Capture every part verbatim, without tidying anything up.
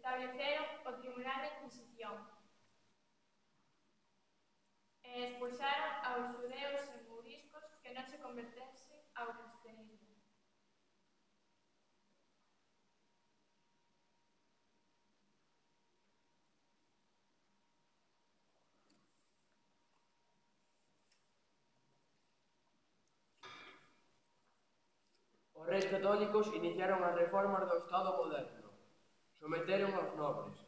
Estableceron o Tribunal da Inquisición e expulsaron aos xudeus e mouriscos que non se convertesen ao cristianismo. Os reis católicos iniciaron as reformas do Estado moderno. Someteron aos nobres.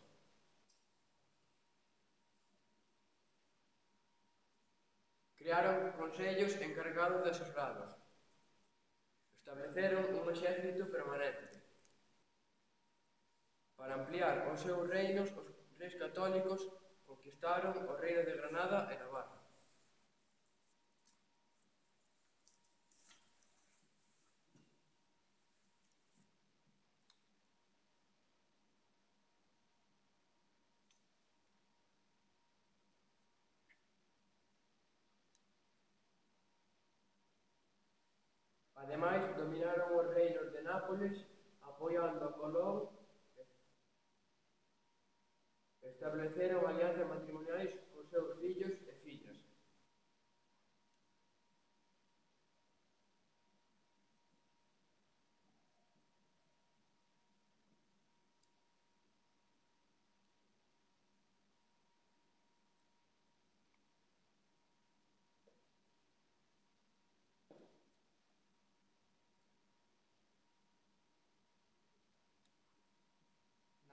Crearon consellos encargados de asesoralos. Estableceron un exército permanente. Para ampliar os seus reinos, os reis católicos conquistaron o reino de Granada e Navarra. Ademais, dominaron os reinos de Nápoles, apoiando a Colón, e estableceron alianzas matrimoniais cos seus fillos e fillas.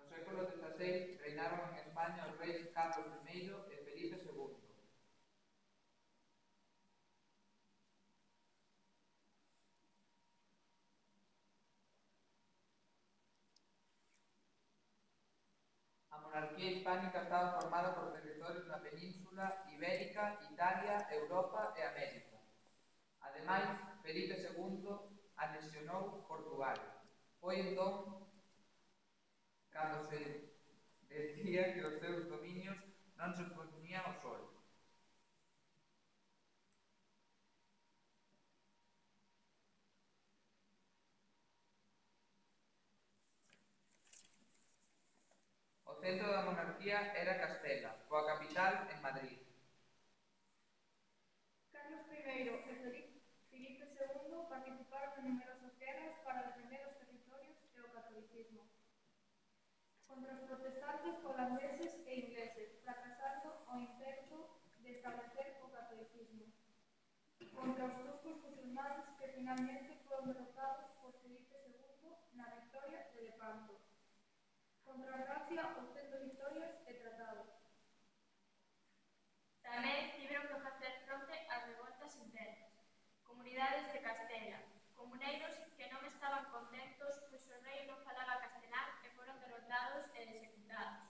No século dezaseis reinaron en España os reis Carlos primeiro e Felipe segundo. A monarquía hispánica estaba formada por territorios na Península Ibérica, Italia, Europa e América. Ademais, Felipe segundo anexionou Portugal. Foi entón cando se decía que os seus dominios non se opoñían ao sol. O centro da monarquía era Castela, coa capital en Madrid. Carlos primeiro e Felipe segundo participaron en numerosas guerras para defender os territorios e o catolicismo contra os protestantes holandeses e ingleses, fracasando o intento de establecer o catolicismo, contra os turcos musulmanes que finalmente foron derrotados por Felipe segundo na victoria de Lepanto, contra a Francia obtendo victorias e tratados. Tamén tiveron que facer fronte ás revoltas internas, comunidades de Castela, comuneiros que non estaban contentos pois o rei non falaba castelán e foron derrotados e executados,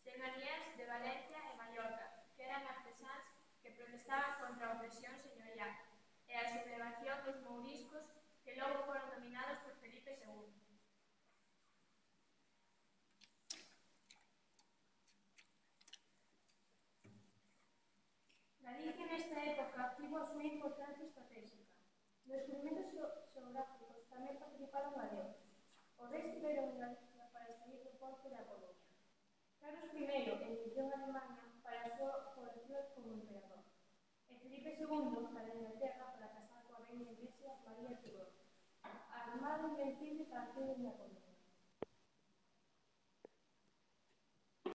señorías de Valencia e Mallorca, que eran artesáns que protestaban contra a opresión señorial e a sublevación dos mouriscos que logo foron dominados por Felipe segundo. Galicia nesta época tivo a súa importancia estratégica. Nos experimentos xeográficos tamén participaron galegos. Os reis tiveron en Galicia para salir do porto da Coruña. Carlos primeiro emigrou en Alemania para a súa cobertura como emperador. E Felipe segundo para Inglaterra para casar coa reina iglesia María Tudor, armado invencible para a Coruña.